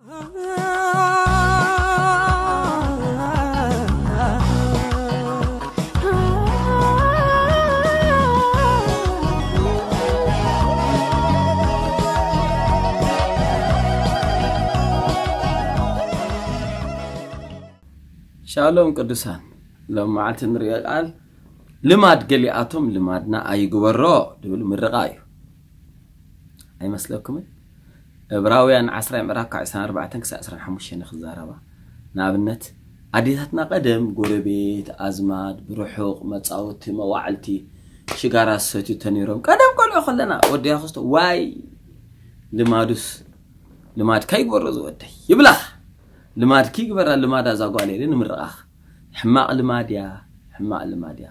ሻሎም ቅዱሳን፣ ሎም መዓልቲ ንሪኦ ቃል ልማድ ገሊኣቶም ልማድና ኣይግበሮ ዝብል ምርቓ እዩ። ኣይመስለኩምን? ዕብራውያን ዓስራ ምዕራፍ ካብ ዕስራን ኣርባዕተን ክሳብ ዕስራን ሓሙሽተን ክዛረባ። ንኣብነት ኣዴታትና ቀደም ጎረቤት፣ ኣዝማድ፣ ብርሑቕ መጻወቲ፣ መዋዕልቲ ሽጋራ ዝሰትዩ ተነይሮም። ቀደም ቆልዑ ከለና ወዲ ያኹስቶ ዋይ ልማዱስ ልማድካ ይግበሮ ዝወደይ ይብላኻ። ልማድኪ ይግበራ ልማዳ እዛ ጓል ኢለ ንምርቓኻ። ሕማቕ ልማድ እያ፣ ሕማቕ ልማድ እያ።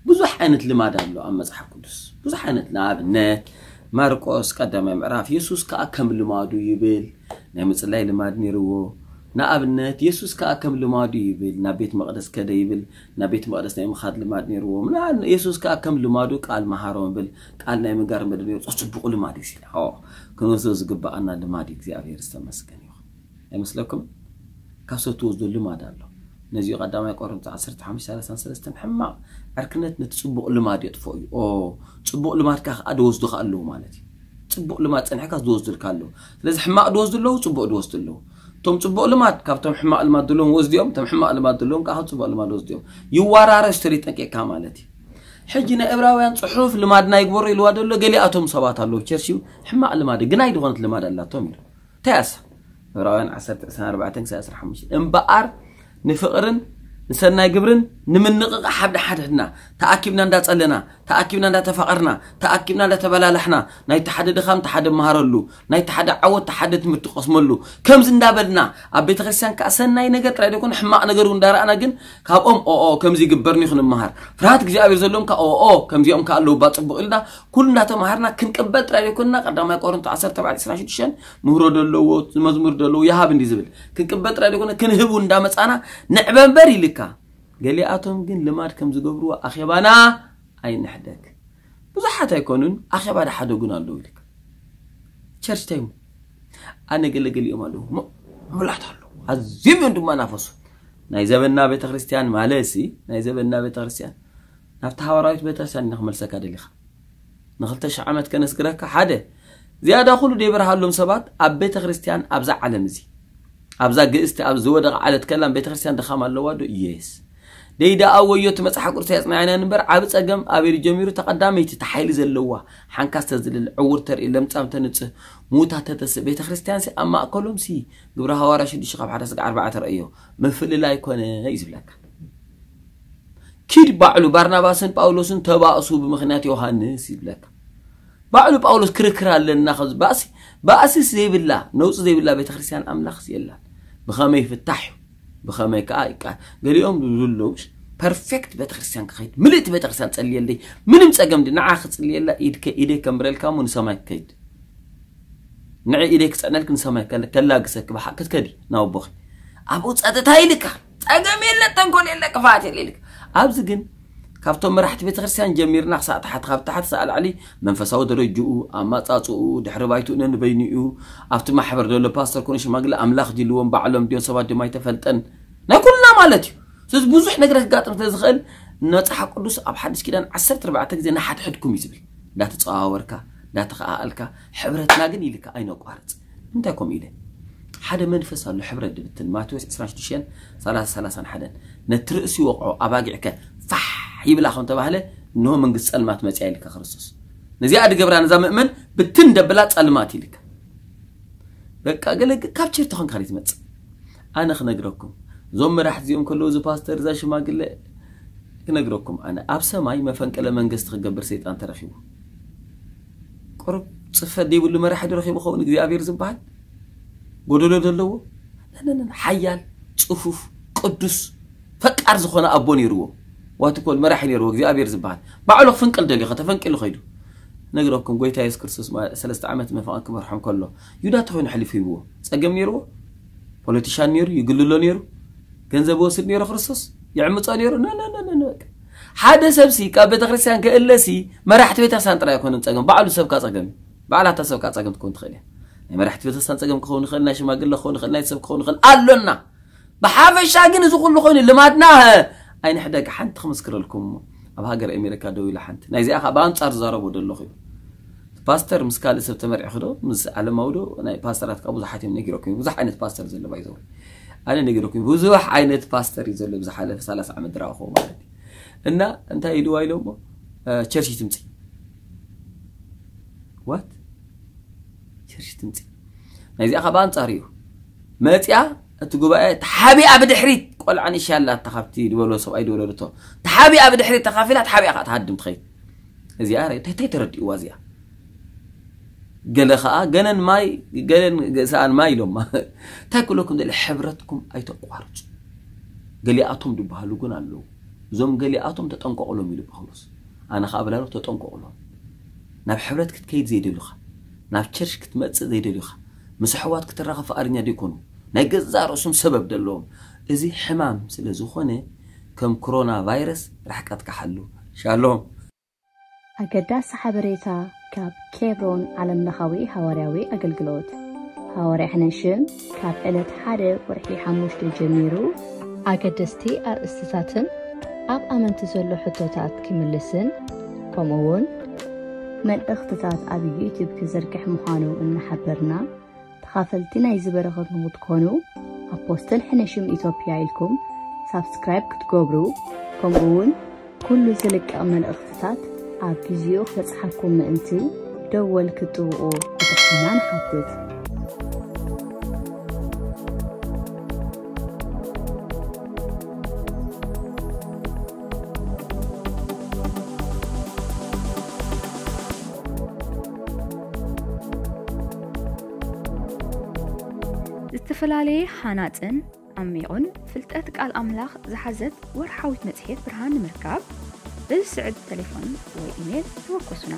ብዙሕ ዓይነት ልማድ ኣሎ ኣብ መጽሓፍ ቅዱስ። ብዙሕ ዓይነት ንኣብነት ማርቆስ ቀዳማይ ምዕራፍ የሱስ ከኣ ከም ልማዱ ይብል ናይ ምጽላይ ልማድ ነይርዎ። ንኣብነት የሱስ ከኣ ከም ልማዱ ይብል ናብ ቤት መቕደስ ከደ ይብል ናብ ቤት መቕደስ ናይ ምኻድ ልማድ ነይርዎ። ምና- የሱስ ከኣ ከም ልማዱ ቃል መሃሮም ይብል ቃል ናይ ምንጋር መደብ ነይሩ። ጽቡቕ ልማድ እዩ ሲላ ክንወስዶ ዝግባኣና ልማድ እዩ። እግዚኣብሔር ዝተመስገን ይኹን። ኣይመስለኩም? ካብ ሰብ ትወስዶ ልማድ ኣሎ። ነዚኡ ቀዳማይ ቆሮንቶስ ዓሰርተ ሓሙሽተ ሰላሳን ሰለስተን ሕማቕ ዕርክነት ነቲ ጽቡቕ ልማድ የጥፍኦ እዩ። ኦ ጽቡቕ ልማድካ ከዓ ድወስዱካ ኣለዉ ማለት እዩ። ጽቡቕ ልማድ ጸኒሕካ ዝወስዱልካ ኣለዉ። ስለዚ ሕማቕ ድወስዱ ኣለዉ፣ ጽቡቕ ድወስዱ ኣለዉ። እቶም ጽቡቕ ልማድ ካብቶም ሕማቕ ልማድ ዘለዎም ወስዲኦም፣ እቶም ሕማቕ ልማድ ዘለዎም ከዓ ካብ ጽቡቕ ልማድ ወስዲኦም። ይወራረስ ተሪ ጠንቂቕካ ማለት እዩ። ሕጂ ናይ ዕብራውያን ጽሑፍ ልማድና ይግበሮ ኢልዋ ደሎ ገሊኣቶም ሰባት ኣለዉ ቸርች እዩ ሕማቕ ልማድ ግናይ ዝኾነት ልማድ ኣላቶም ኢሉ። እንታይ ኣሳ ዕብራውያን ዓሰርተ ዕስራን ኣርባዕተን ክሳብ ዕስራን ሓሙሽተን እምበኣር ንፍቕርን ንሰናይ ግብርን ንምንቕቓሕ ሓደ ሓድሕድና ተኣኪብና እንዳጸለና ተኣኪብና እንዳተፋቐርና ተኣኪብና እንዳተበላላሕና ናይቲ ሓደ ድኻም ተሓደ መሃረሉ ናይቲ ሓደ ዓወት ተሓደ ትምህርቲ ቀስመሉ ከምዚ እንዳበልና ኣብ ቤተ ክርስቲያን ከዓ ሰናይ ነገር ጥራይ ደይኮነ ሕማቕ ነገር እውን እንዳረኣና ግን ካብኦም ኦኦ ከምዚ ይግበርኒ ክንመሃር ፍርሃት እግዚኣብሔር ዘለዎም ከዓ ኦኦ ከምዚኦም ከዓ ኣለዉ ባ ጽቡቕ ኢልና ኩሉ እንዳተማሃርና ክንቅበል ጥራይ ደይኮንና ቀዳማይ ቆሮንቶ ዓሰርተ ኣርባዕተ ዕስራን ሽዱሽተን ምህሮ ደለዎ መዝሙር ደለዎ ይሃብ እንዲ ዝብል ክንቅበል ጥራይ ደይኮነ ክንህብ እውን እንዳመጻና ንዕበ እምበር ኢልካ ገሊኣቶም ግን ልማድ ከም ዝገብርዎ ኣኼባና ኣይንሕደግ ብዙሓት ኣይኮኑን ኣኼባ ዳሓደጉን ኣለዉ ኢልካ ቸርች ታይሙ ኣነ ገለገሊኦም ኣለዉ ምላት ኣለዉ ኣዝዮም እዮም ድማ ናፈሱ ናይ ዘበና ቤተክርስትያን ማለት ሲ ናይ ዘበና ቤተክርስትያን ናብቲ ሃዋራዊት ቤተክርስትያን ኢና ክመልሰካ ደሊኻ ንኽልተ ሽሕ ዓመት ከነስግረካ ሓደ ዝያዳ ኩሉ ደይበርሃሎም ሰባት ኣብ ቤተ ክርስቲያን ኣብዛ ዓለም እዚ ኣብዛ ግእስቲ ኣብ ዝወደቐ ዓለት ከላም ቤተ ክርስቲያን ድኻም ኣለዋ ዶ የስ ደይዳ ኣወዮ እቲ መጽሓፍ ቅዱስ ያጽናዕና እምበር ዓቢ ጸገም ኣበይ ጀሚሩ ተቐዳመይቲ እቲ ሓይሊ ዘለዋ ሓንካስ ተዝልል ዕውር ተርኢ ለምጻም ተንጽህ ሙታ ተተስእ ቤተ ክርስቲያን ሲ ኣብ ማእከሎም ሲ ግብረ ሃዋርያ ሽዱሽተ ካብ ሓደ ስጋ ኣርባዕተ ረእዮ ምፍልላይ ኮነ እዩ ዝብለካ ኪድ ባዕሉ ባርናባስን ጳውሎስን ተባእሱ ብምኽንያት ዮሃንስ ይብለካ ባዕሉ ጳውሎስ ክርክር ኣለና ከዚ ባእሲ ባእሲስ ዘይብላ ነውፂ ዘይብላ ቤተክርስትያን ኣምላኽስ የላን ብኸመይ ፍታሕ እዩ ብኸመይ ከዓ ይቃ ገሊኦም ዝብሉ ፐርፌክት ቤተክርስትያን ክኸይድ ምልእቲ ቤተክርስትያን ፀልየለይ ምንም ፀገም ዲ ንዓ ክፅልየላ ኢድከ ኢደይ ከምብረልካ እሞ ንሰማይ ክከይድ ንዐ ኢደይ ክፀዕነልክ ንሰማይ ከላግሰክ ክትከዲ ናብ ኣቦኺ ኣብኡ ፀጥታ ኢልካ ፀገም የለ ተንኮል የለ ክፍኣት የለ ኢልካ ኣብዚ ግን ካብቶም መራሕቲ ቤተክርስትያን ጀሚርና ክሳዕ ታሕቲ ካብ ታሕቲ ሳዕ ላዕሊ መንፈሳዊ ደረጅኡ ኣማፃፅኡ ድሕሪ ባይትኡ ነንበይኑ እዩ ኣብቲ ማሕበር ዘሎ ፓስተር ኮነ ሽማግለ ኣምላኽ ድልዎም ባዕሎም ድዮም ሰባት ድዮም ኣይተፈልጠን ናይ ኩልና ማለት እዩ ስለዚ ብዙሕ ነገር ክጋጥም ስለ ዝኽእል መፅሓፍ ቅዱስ ኣብ ሓድሽ ኪዳን ዓሰርተ ኣርባዕተ ግዜ ንሓድሕድኩም እዩ ዝብል እንዳተፀዋወርካ እንዳተኸኣኣልካ ሕብረትና ግን ኢልካ ኣይነቋርፅ እንታይ ኮም ኢለ ሓደ መንፈስ ኣሎ ሕብረት ድብትን ማቴዎስ ዕስራን ሽዱሽተን ሰላሳ ሰላሳን ሓደን ነቲ ርእሲ ወቕዖ ኣባጊዕከ ፋሕ ይብላ ከም ተባህለ እንሆ መንግስቲ ጸልማት መጽያ ኢልካ ክርስቶስ ነዚኣ ድገብራ ነዛ ምእመን ብትን ደብላ ጸልማት ኢልካ በቃ ገለ ካብ ቸርች ተኾንካ ትመጽእ ኣነ ክነግረኩም እዞም መራሕቲ እዚኦም ከለዉ እዚ ፓስተር እዛ ሽማግለ ክነግረኩም ኣነ ኣብ ሰማይ መፈንቅለ መንግስቲ ክገብር ሰይጣን ተረኺቡ ቁሩብ ጽፈት ዘይብሉ መራሒ ዶ ረኺቡ ኸውን እግዚኣብሔር ዝበሃል ጎደሎ ዘለዎ ሓያል ጽፉፍ ቅዱስ ፈቃር ዝኾነ ኣቦ ነይርዎ ዋትኮል መራሒ ነይርዎ እግዚኣብሔር ዝበሃል ባዕሉ ክፍንቅል ደልዩ ከተፈንቂሉ ኸይዱ ነግረኩም ጎይታ የሱስ ክርስቶስ ሰለስተ ዓመት መፋቕን ክመርሖም ከሎ ዩዳ ተኾይኑ ሕሊፉ ሂብዎ ጸገም ነይርዎ ፖለቲሻን ነይሩ ይግልሎ ነይሩ ገንዘብ ወስድ ነይሩ ክርስቶስ ይዕምጾ ነይሩ ሓደ ሰብሲ ካብ ቤተክርስትያን ክእለሲ መራሕቲ ቤተክርስትያን ጥራይ ኣይኮነን ጸገም ባዕሉ ሰብካ ጸገም እዩ ባዕላታ ሰብካ ጸገም ትኮን ትኽእል እያ ናይ መራሕቲ ቤተክርስትያን ጸገም ክኸውን ይኽእል፣ ናይ ሽማግለ ክኸውን ይኽእል፣ ናይ ሰብ ክኸውን ይኽእል ኣሎና። ብሓፈሻ ግን እዚ ኩሉ ኮይኑ ልማድና ኣይንሕደግ። ሓንቲ ክምስክረልኩም እሞ፣ ኣብ ሃገር ኣሜሪካ ደው ኢላ ሓንቲ፣ ናይዚኣ ከዓ ብኣንጻር ዝዛረቦ ዘለኹ እዩ። ፓስተር ምስ ካልእ ሰብ ተመርዒ ክዶ ምስ ዓለማዊ ዶ ናይ ፓስተራት ከዓ ብዙሓት እዮም ነጊረኩም። ብዙሕ ዓይነት ፓስተር ዘሎ ባይዘው ኣነ ነጊረኩም። ብዙሕ ዓይነት ፓስተር እዩ ዘሎ ብዝሓለፈ ሰላሳ ዓመት ድራኹ ማለት እዩ። እና እንታይ ኢልዋ ኢሎሞ ቸርች ትምፂ ዋት ቸርች ትምፂ። ናይዚኣ ካብ ኣንጻር እዩ መፅያ። እቲ ጉባኤ ተሓቢኣ ብድሕሪት ቆልዓ ንእሽያ ኣላታ ካብቲ ዝበሎ ሰብኣይ ዝበሎ ርቶ ተሓቢኣ ብድሕሪት ተኻፊላ ተሓቢኣ ከዓ ትሃድም ትኸይድ። እዚኣ እንታይ ተረዲእዋ እዚኣ? ገለ ከዓ ገነን ማይ ገለን ገሰኣን ማይ ኢሎማ እንታይ ክብለኩም ደለ ሕብረትኩም ኣይተቋርፁ። ገሊኣቶም ዝበሃሉ ግን ኣለዉ። እዞም ገሊኣቶም ተጠንቀቑሎም ኢሉ ጳውሎስ። ኣነ ከዓ ብላሉ ተጠንቀቑሎም። ናብ ሕብረት ክትከይድ ዘይደልዩኻ፣ ናብ ቸርች ክትመፅእ ዘይደልዩኻ፣ ምስ ኣሕዋት ክትራኸብ ፍቓደኛ ዘይኮኑ፣ ናይ ገዛእ ርእሶም ሰበብ ዘለዎም፣ እዚ ሕማም ስለ ዝኾነ ከም ኮሮና ቫይረስ ራሕቃትካ ሓሉ። ሻሎም። ኣገዳሲ ሓበሬታ ካብ ኬብሮን ዓለምለኻዊ ሃዋርያዊ ኣገልግሎት። ሃዋርያ ሕነሽም ካብ ዕለት ሓደ ወርሒ ሓሙሽተ ጀሚሩ ኣገደስቲ ኣርእስትታትን ኣብ ኣመንቲ ዘሎ ሕቶታት ክምልስን ከምኡ እውን መልእኽትታት ኣብ ዩቲዩብ ክዝርግሕ ምዃኑ እናሓበርና ተኻፈልቲ ናይዚ በረኸት ንክትኮኑ ኣፖስትል ሕነሽም ኢትዮጵያ ኢልኩም ሳብስክራይብ ክትገብሩ ከምኡ እውን ኩሉ ዝልቀቕ መልእኽትታት ኣብ ግዚኡ ክበጽሓኩም ምእንቲ ደወል ክትጥውቑ ብትሕትና ንሓትት። ዝተፈላለየ ሃናጽን ዓሚቑን ፍልጠት ቃል ኣምላኽ ዝሓዘት ወርሓዊት መጽሔት ብርሃን ንምርካብ በዚ ስዕብ ተሌፎን ወይ ኢሜል ተወከሱና።